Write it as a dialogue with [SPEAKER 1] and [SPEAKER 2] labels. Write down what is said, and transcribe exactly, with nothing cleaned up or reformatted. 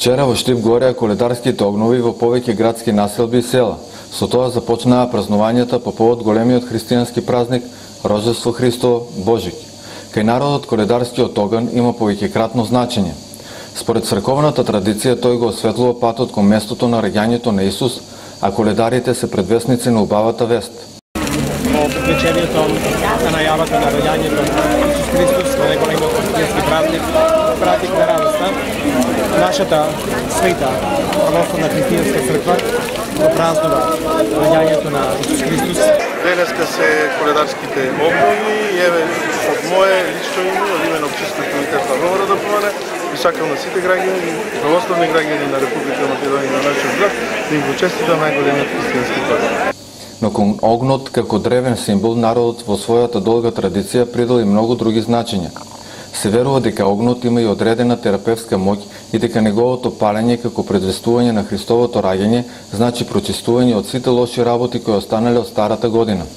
[SPEAKER 1] Вчера во Штип гореа коледарските огнови во повеќе градски населби и села. Со тоа започнаа празнувањата по повод големиот христијански празник Рождество Христово Божик. Кај народот коледарскиот оган има повеќекратно значење. Според црковната традиција тој го осветлува патот кон местото на раѓањето на Исус, а коледарите се предвесници на убавата вест.
[SPEAKER 2] Во предвечерието на најавата на раѓањето на Исус Христос, на неголемиот христијански празник, празник на радоста, нашата света православна христијанска црква го празнува раѓањето на Исус Христос.
[SPEAKER 3] Денеска се коледарските обнови и еве од мое лично име, од име на Општинскиот комитет на Говора да помане, и сакам на сите граѓани, православни граѓани на Република Македонија на нашиот град, да им го честитам најголемиот христијански празник.
[SPEAKER 1] Но кон огнот како древен символ, народот во својата долга традиција придал и многу други значења. Се верува дека огнот има и одредена терапевска моќ и дека неговото палење како предвестување на Христовото раѓање значи прочистување од сите лоши работи кои останале од старата година.